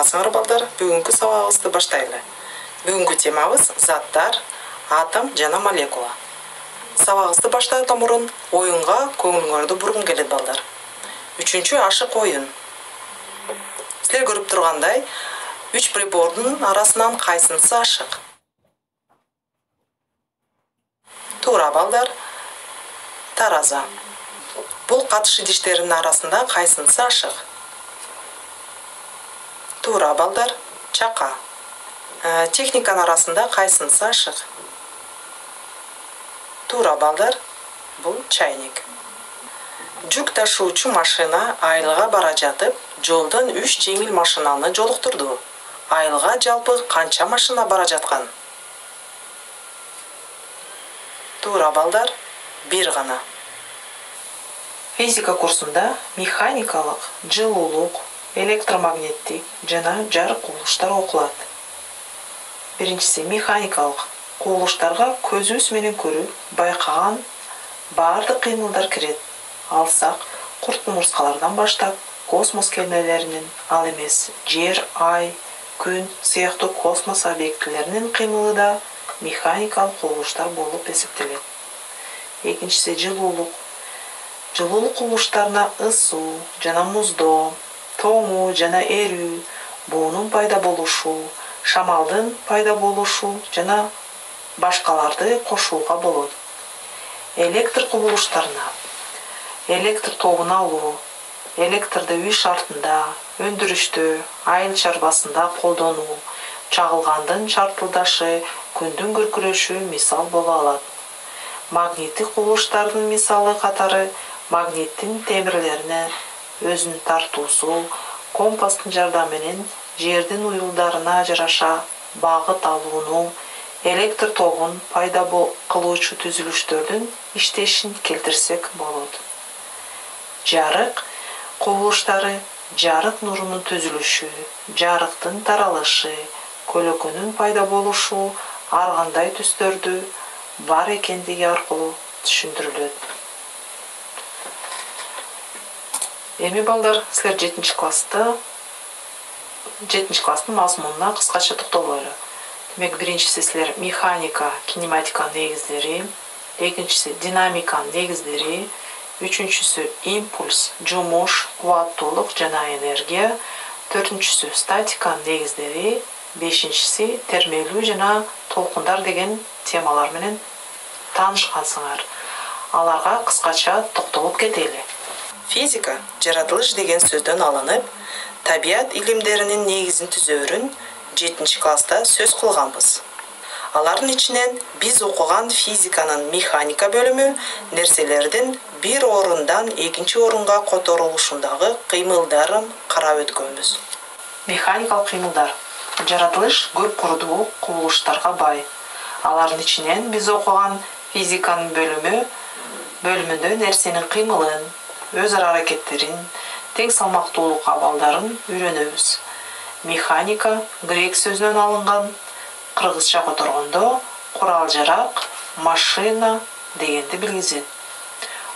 саламатсыңар балдар. Бүгүнкү сабагыбызды баштайлы. Бүгүнкү темабыз заттар, атом жана молекула. Сабагыбызды баштаардан мурун оюнга көңүлүңөрдү бургум келет балдар. 3-чү ашык оюн. Силер көрүп тургандай, 3 прибордун арасынан кайсынысы ашык? Туура балдар. Тараза. Бул катыш идиштеринин арасында кайсынысы ашык? Туура балдар. Чака. Техниканын арасында кайсынысы ашык? Туура балдар. Бул чайник. Жүк ташуучу машина Айылга бара жатып, жолдон 3 жеңил машинаны жолуктурду. Айылга жалпы канча машина бара жаткан? Туура балдар. 1 гана. Физика курсунда механикалык, жылуулук, электромагниттик жана жарык кубулуштар окулат. Биринчиси механикалык кубулуштарга көзүбүз менен көрүп байкаган баардык кыймылдар кирет. Алсак, курт-мурскалардан баштап космос кемелеринин, ал эмес Жер, Ай, Күн сыяктуу космос объектилеринин кыймылы да механикалык кубулуштар болуп эсептелет. Экинчиси жылуулук. Жылуулук кубулуштарына ысуу жана муздоо, тоңуу жана эрүү, буунун пайда болушу, шамалдын пайда болушу жана башкаларды кошууга болот. Электр кубулуштарына электр тобун алуу, электрди үй шартында, өндүрүштө, айыл чарбасында колдонуу, чагылгандын чарпылдашы, күндүн күркүрөшү мисал боло алат. Магниттик кубулуштардын мисалы катары магниттин темирлерине өзүнүн тартуусу, компастын жардамы менен жердин уюлдарына жараша багыт алууну, электр тобун пайда кылуучу түзүлүштөрдүн иштешин келтирсек болот. Жарык кубулуштары жарык нурунун түзүлүшү, жарыктын таралышы, көлөкөнүн пайда болушу ар кандай түстөрдү бар экендиги аркылуу түшүндүрүлөт. Эми балдар, силер 7-класстын мазмунуна кыскача токтололу. Демек, биринчиси силер механика, кинематиканын негиздери, экинчиси динамиканын негиздери, үчүнчүсү импульс, жумуш, кубаттуулук жана энергия, төртүнчүсү статиканын негиздери, бешинчиси термелүү жана толкундар деген темалар менен таанышкансыңар. Аларга кыскача токтолуп кетели. Физика жаратылыш деген сөздөн алынып, табият илимдеринин негизин түзөөрүн 7-класста сөз кылганбыз. Алардын ичинен биз окуган физиканын механика бөлүмү нерселердин бир орундан экинчи орунга которулушундагы кыймылдарын карап өткөнбүз. Механикалык кыймылдар. Жаратылыш көп курдуу кубулуштарга бай. Алардын ичинен биз окуган физиканын бөлүмүндө нерсенин кыймылын, өз ара аракеттерин, тең салмактуулук абалдарын үйрөнөбүз. Механика грек сөзүнөн алынган, кыргызча которгондо курал-жарак, машина дегенди билгизет.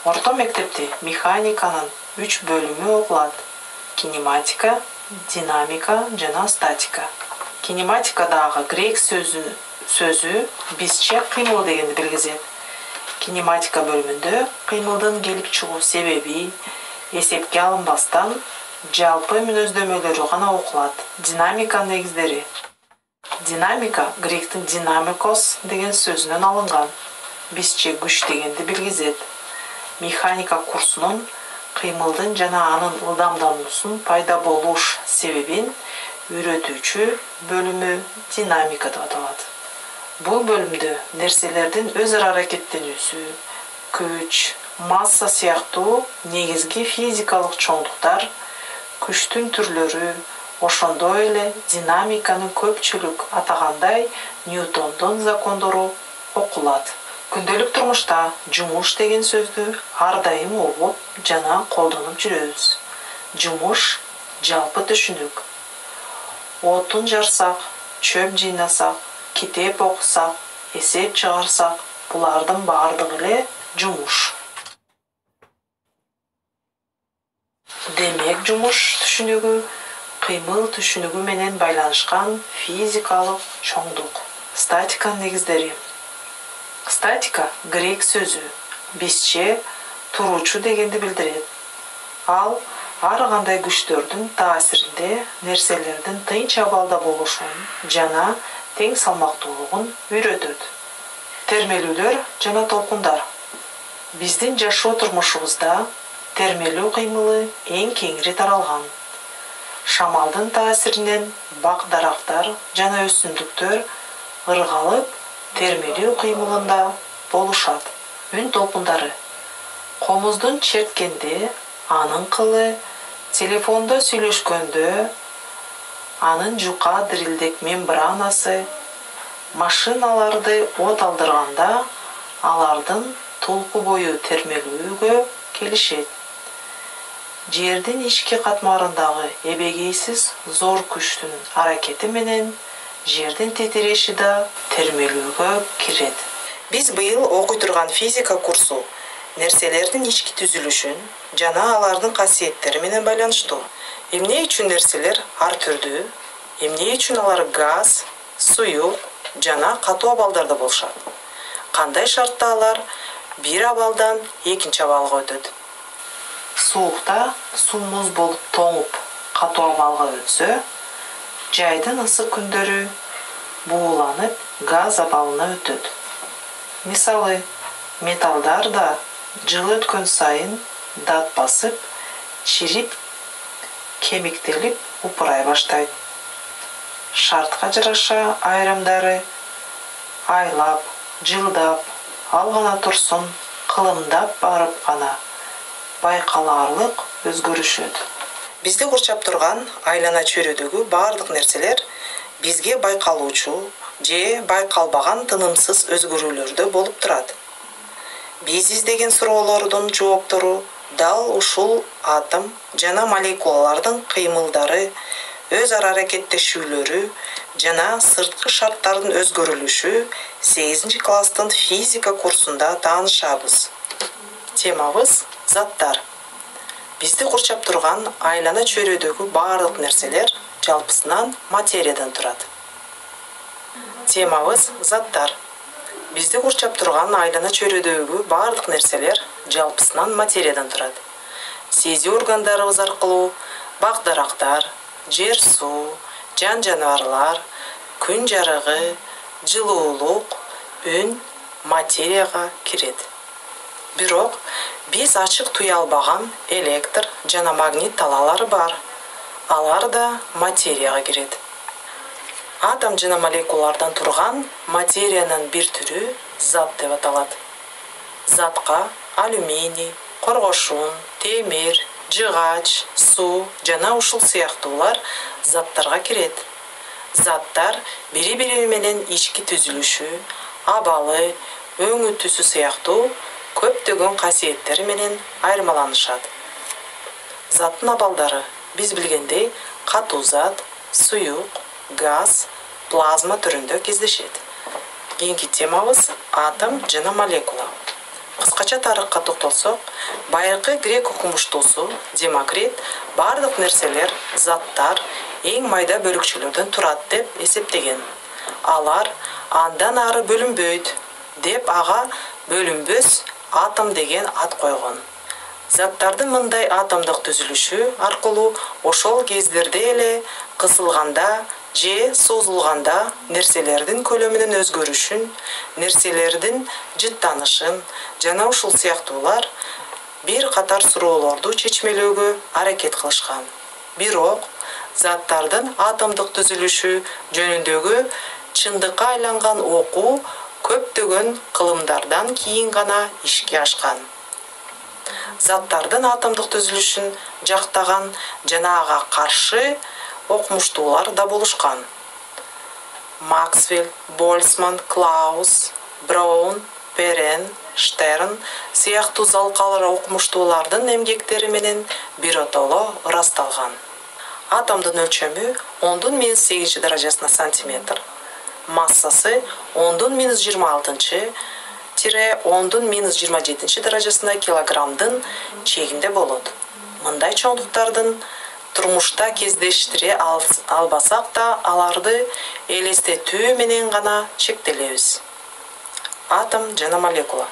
Орто мектепте механиканын 3 бөлүмү окулат: кинематика, динамика жана статика. Кинематикадагы грек сөзү бизче кыймыл дегенди билгизет. Кинематика бөлүмүндө кыймылдын келип чыгуу себеби эсепке алынбастан жалпы мүнөздөмөлөрү гана окулат. Динамиканын негиздери. Динамика гректин динамикос деген сөзүнөн алынган, бизче күч дегенди билгизет. Механика курсунун кыймылдын жана анын ылдамдануусунун пайда болуш себебин үйрөтүүчү бөлүмү динамика деп аталат. Бул бөлүмдө нерселердин өз ара аракеттенүүсү, күч, масса сыяктуу негизги физикалык чоңдуктар, күчтүн түрлөрү, ошондой эле динамиканын көпчүлүк атагандай Ньютондун закондору окулат. Күндөлүк турмушта жумуш деген сөздү ар дайым угуп жана колдонуп жүрөбүз. Жумуш жалпы түшүнүк. Отун жарсак, чөп жыйнасак, китеп окусак, эсеп чыгарсак, булардын баардыгы эле жумуш. Демек, жумуш түшүнүгү кыймыл түшүнүгү менен байланышкан физикалык чоңдук. Статиканын негиздери. Статика грек сөзү бизче туруучу дегенди билдирет. Ал ар кандай күчтөрдүн таасиринде нерселердин тынч абалда болушун жана тең салмактуулугун үйрөтөт. Термелүүлөр жана толкундар. Биздин жашоо турмушубузда термелүү кыймылы эң кеңири таралган. Шамалдын таасиринен бак-дарактар жана өсүмдүктөр ыргалып термелүү кыймылында болушат. Үн толкундары. Комуздун черткенде анын кылы, телефондо сүйлөшкөндө анын жука дирилдек мембранасы, машиналарды от алдырганда алардын толку бою термелүүгө келишет. Жердин ички катмарындагы эбегейсиз зор күчтүн аракети менен жердин титиреши да термелүүгө кирет. Биз быйыл окуй турган физика курсу нерселердин ички түзүлүшүн жана алардын касиеттери менен байланыштуу. Эмне үчүн нерселер ар түрдүү, эмне үчүн алар газ, суюк жана катуу абалдарда болушат. Кандай шартта алар бир абалдан экинчи абалга өтөт. Суукта суу муз болуп тоңуп катуу абалга өтсө, жайдын ысык күндөрү бууланып газ абалына өтөт. Мисалы, металлдар да жыл өткөн сайын дат басып, чирип, кемиктелип упурай баштайт. Шартка жараша айрымдары айлап, жылдап, ал гана турсун, кылымдап барып гана байкалаарлык өзгөрүшөт. Бизди курчап турган айлана чөйрөдөгү бардык нерселер бизге байкалуучу же байкалбаган тынымсыз өзгөрүүлөрдө болуп турат. Биз издеген суроолордун жооптору дал ушул атом жана молекулалардын кыймылдары, өз ара аракеттешүүлөрү жана сырткы шарттардын өзгөрүлүшү 8-класстын физика курсунда таанышабыз. Темабыз заттар. Бизди курчап турган айлана чөйрөдөгү бардык нерселер жалпысынан материядан турат. Темабыз заттар. Бизди курчап турган айлана чөйрөдөгү бардык нерселер жалпысынан материядан турат. Сезүү органдарыбыз аркылуу бак-дарактар, жер-суу, жан-жаныбарлар, күн жарыгы, жылуулук, үн материяга кирет. Бирок биз ачык туя албаган электр жана магнит талаалары бар. Алар да материяга кирет. Атом жана молекулалардан турган материянын бир түрү зат деп аталат. Затка алюминий, коргошун, темир, жыгач, суу жана ушул сыяктуулар заттарга кирет. Заттар бири-бири менен ички түзүлүшү, абалы, өңү түсү сыяктуу көптөгөн касиеттери менен айырмаланышат. Заттын абалдары биз билгендей катуу зат, суюк, газ, плазма түрүндө кездешет. Кийинки темабыз атом жана молекула. Кыскача тарыхка токтолсок, байыркы грек окумуштуусу Демокрит бардык нерселер, заттар эң майда бөлүкчөлөрдөн турат деп эсептеген. Алар андан ары бөлүнбөйт деп ага бөлүнбөс атом деген ат койгон. Заттардын мындай атомдук түзүлүшү аркылуу ошол кездерде эле кысылганда же созулганда нерселердин көлөмүнүн өзгөрүшүн, нерселердин жыттанышын жана ушул сыяктуулар бир катар суроолорду чечмелөөгө аракет кылышкан. Бирок заттардын атомдук түзүлүшү жөнүндөгү чындыкка айланган окуу көптөгөн кылымдардан кийин гана ишке ашкан. Заттардын атомдук түзүлүшүн жактаган жана ага каршы окумуштуулар да болушкан. Максвелл, Больцман, Клаус, Браун, Перен, Штерн сыяктуу залкалар окумуштуулардын эмгектери менен биротоло ырасталган. Атомдун өлчөмү 10⁻8 даражасына сантиметр, массасы 10⁻26-10⁻27 даражасына килограммдын чегинде болот. Мындай чоңдуктардын турмушта кездештире албасак да, аларды элестетүү менен гана чектелебиз. Атом жана молекула.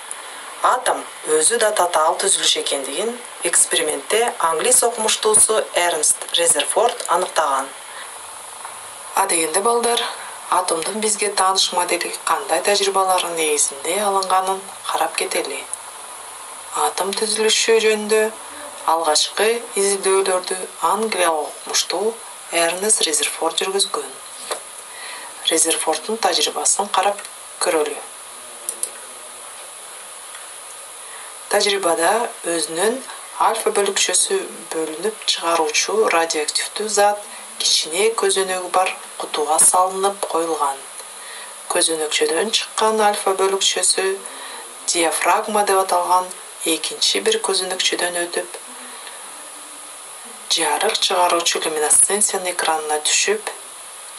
Атом өзү да татаал түзүлүш экендигин экспериментте англис окумуштуусу Эрнст Резерфорд аныктаган. Дегенде балдар, атомдун бизге тааныш модели кандай тажрыйбалардын негизинде алынганын карап кетели. Атом түзүлүшү жөнүндө алгачкы изилдөөлөрдү англиялык окумуштуу Эрнст Резерфорд жүргүзгөн. Резерфорддун тажрыйбасын карап көрөлү. Тажрыйбада өзүнүн альфа бөлүкчөсү бөлүнүп чыгаруучу радиоактивдүү зат кичине көзөнөгү бар кутуга салынып коюлган. Көзөнөкчөдөн чыккан альфа бөлүкчөсү диафрагма деп аталган экинчи бир көзөнөкчөдөн өтүп, жарык чыгаруучу люминесценциянын экранына түшүп,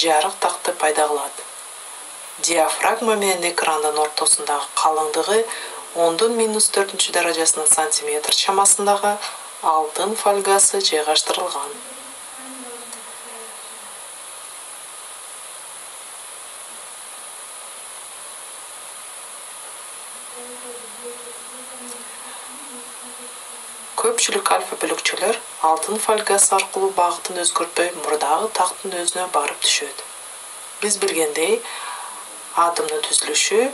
жарык такты пайда кылат. Диафрагма менен экрандын ортосундагы калыңдыгы 10⁻⁴ даражасына сантиметр чамасындагы алтын фольгасы жайгаштырылган. Көпчүлүк альфа бөлүкчөлөр алтын фольгасы аркылуу багытын өзгөртпөй мурдагы тактын өзүнө барып түшөт. Биз билгендей, атомдун түзүлүшү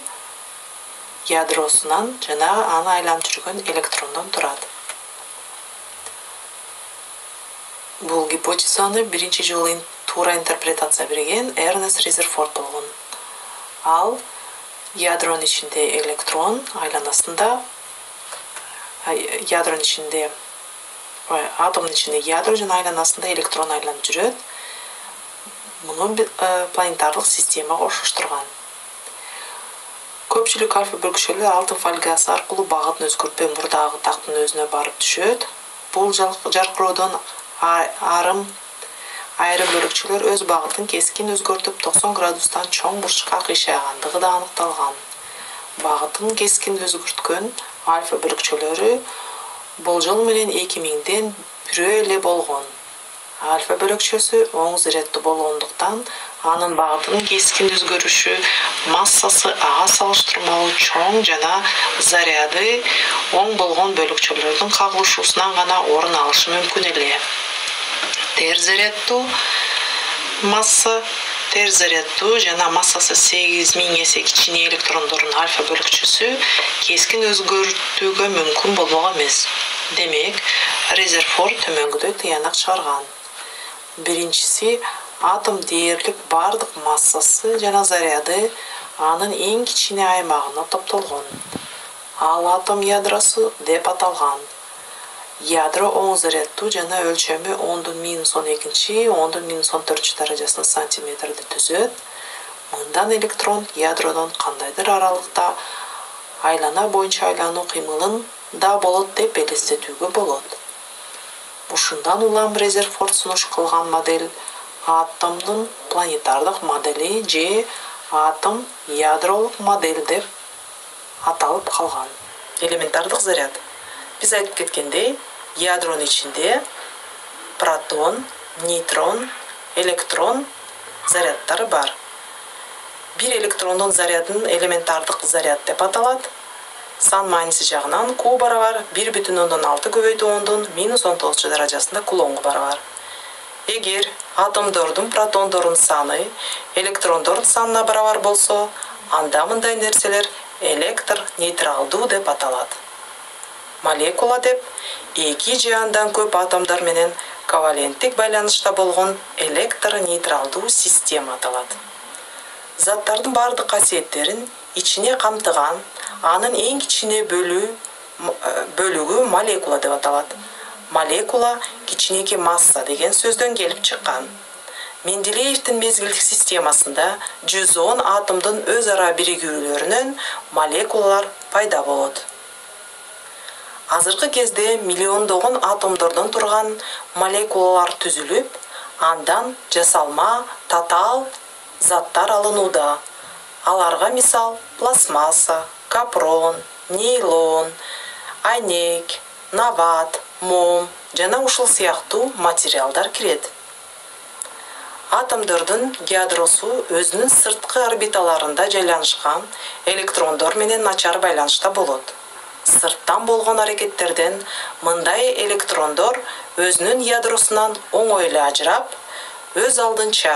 ядросунан жана аны айланып жүргөн электрондон турат. Бул гипотезаны биринчи жолу туура интерпретация берген Эрнст Резерфорд болгон. Ал ядронун ичинде электрон айланасында, атомдун ичинде ядро жана айланасында электрон айланып жүрөт. Муну планетардык системага окшоштурган. Көпчүлүк альфа бөлүкчөлөр алтын фольгасы аркылуу багытын өзгөртпөй мурдагы тактын өзүнө барып түшөт. Бул жаркыроодон айрым бөлүкчөлөр өз багытын кескин өзгөртүп 90 градустан чоң бурчка кыйшайгандыгы да аныкталган. Багытын кескин өзгөрткөн альфа бөлүкчөлөрү болжол менен 2000ден бирөө эле болгон. Альфа бөлүкчөсү оң заряддуу болгондуктан анын багытынын кескин өзгөрүшү массасы ага салыштырмалуу чоң жана заряды оң болгон бөлүкчөлөрдүн кагылышуусунан гана орун алышы мүмкүн эле. Терс заряддуу жана массасы 8000 эсе кичине электрондордун альфа бөлүкчөсү кескин өзгөртүүгө мүмкүн болмок эмес. Демек, Резерфорд төмөнгүдөй тыянак чыгарган. Биринчиси, атом дээрлик бардык массасы жана заряды анын эң кичине аймагына топтолгон. Ал атом ядросу деп аталган. Ядро оң заряддуу жана өлчөмү 10⁻12, 10⁻14 даражасына сантиметрди түзөт. Мындан электрон ядродон кандайдыр аралыкта айлана боюнча айлануу кыймылын да болот деп элестетүүгө болот. Ушундан улам Резерфорд сунуш кылган модель атомдун планетардык модели же атом ядролук модель деп аталып калган. Элементардык заряд. Биз айтып кеткендей, ядронун ичинде протон, нейтрон, электрон заряддары бар. Бир электрондун зарядын элементардык заряд деп аталат. Сан мааниси жагынан Q барабар 1,6 көбөйтүү 10⁻⁹ даражасында кулонго барабар. Эгер атомдордун протондордун саны электрондордун санына барабар болсо, анда мындай нерселер электр нейтралдуу деп аталат. Молекула деп эки же андан көп атомдор менен коваленттик байланышта болгон электр нейтралдуу система аталат. Заттардын бардык касиеттерин ичине камтыган, анын эң кичине бөлүгү молекула деп аталат. Молекула кичинекей масса деген сөздөн келип чыккан. Менделеевдин мезгилдик системасында 110 атомдун өз ара биригүүлөрүнөн молекулалар пайда болот. Азыркы кезде миллиондогон атомдордон турган молекулалар түзүлүп, андан жасалма, татаал заттар алынууда. Аларга мисал пластмасса, капрон, нейлон, айнек, нават, мом, жана ушул сыяктуу материалдар кирет. Атомдордун ядросу өзүнүн сырткы орбиталарында жайланышкан электрондор менен начар байланышта болот. Сырттан болгон аракеттерден мындай электрондор өзүнүн ядросунан оңой эле ажырап, өз алдынча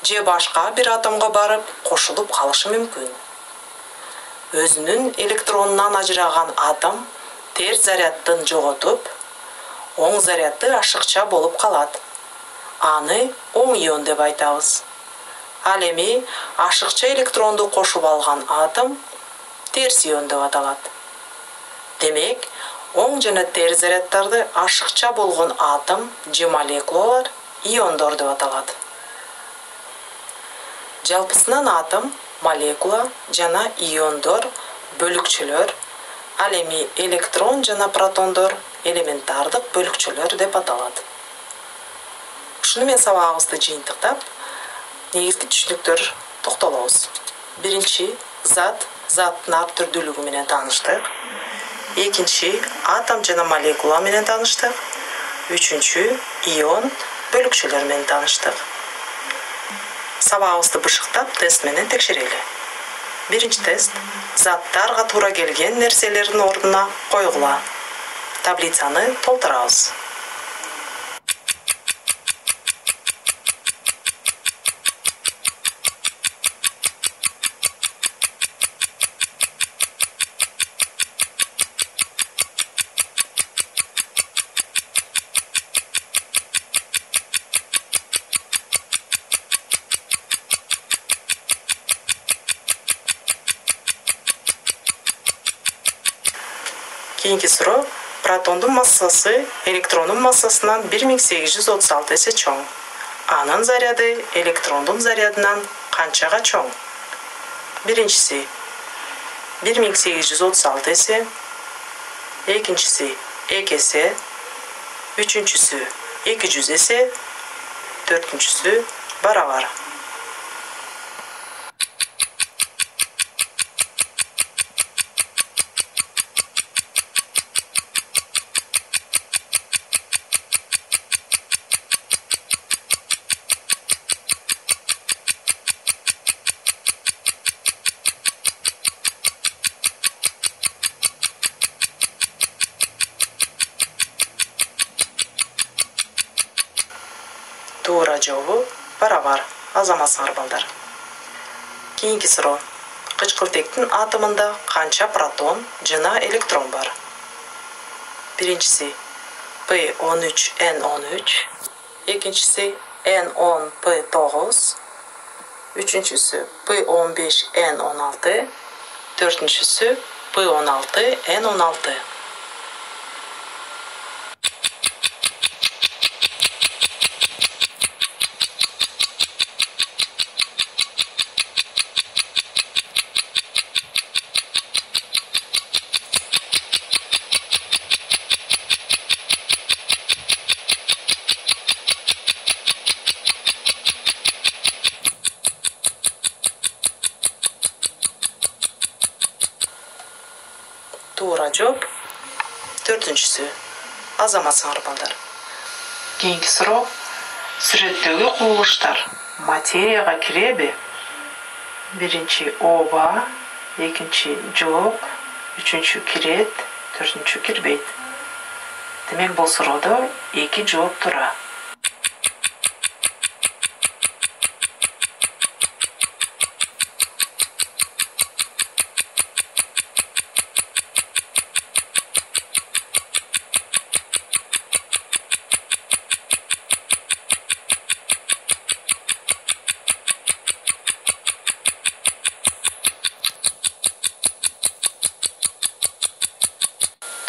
же башка бир атомго барып кошулуп калышы мүмкүн. Өзүнүн электронунан ажыраган атом терс зарядтын жоготуп, оң зарядды ашыкча болуп калат. Аны оң ион деп айтабыз. Ал эми ашыкча электронду кошуп алган атом терс ион деп аталат. Демек, оң жана терс заряддарды ашыкча болгон атом же молекулалар иондор деп аталат. Жалпысынан атом, молекула жана иондор бөлүкчөлөр, ал эми электрон жана протондор элементардык бөлүкчөлөр деп аталат. Ушуну менен сабагыбызды жыйынтыктап, негизги түшүнүктөр токтолобуз. Биринчи, зат, заттын ар түрдүүлүгү менен тааныштык. Экинчи, атом жана молекула менен тааныштык. Үчүнчү, ион, бөлүкчөлөр менен тааныштык. Сабагыбызды бышыктап, тест менен текшерели. Биринчи тест. Заттарга туура келген нерселердин ордуна койгула. Таблицаны толтурабыз. Кийинки суроо. Протондун массасы электрондун массасынан 1836 эсе чоң. Анын заряды электрондун зарядынан канчага чоң? Биринчиси 1836 эсе, экинчиси 2 эсе, үчүнчүсү 200 эсе, төртүнчүсү барабар. Туура жообу барабар. Азаматсыңар балдар. Кийинки суроо. Кычкылтектин атомунда канча протон жана электрон бар? Биринчиси P13N13, экинчиси N10P9, үчүнчүсү P15N16, төртүнчүсү P16N16. Туура жооп төртүнчүсү. Азаматсыңар балдар. Кийинки суроо. Сүрөттөгү кубулуштар материяга киреби? Биринчи ооба, экинчи жок, үчүнчү кирет, төртүнчү кирбейт. Демек бул суроодо 2 жооп туура.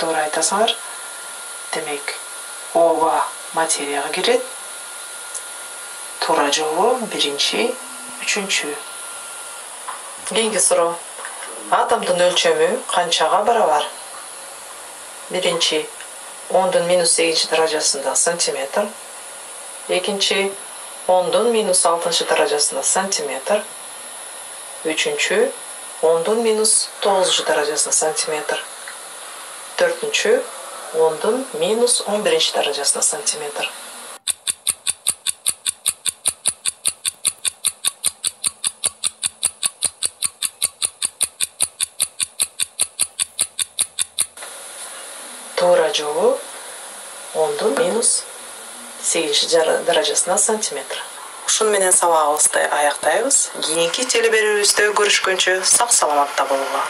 Туура айтасыңар. Демек, ооба материяга кирет. Туура жообу биринчи, үчүнчү. Кийинки суроо. Атомдун өлчөмү канчага барабар? Биринчи 10⁻8 даражасында сантиметр. Экинчи 10⁻6 даражасында сантиметр. Үчүнчү 10⁻9 даражасында сантиметр. Төртүнчү 10'dun minus 11 darajasına santimetr. Tuğra joğu 10'dun minus 8 darajasına santimetr. Ушун менен сабагыбызды аяктайбыз. Кийинки телеберимибизде көрүшкөнчө сак саламатта болгула.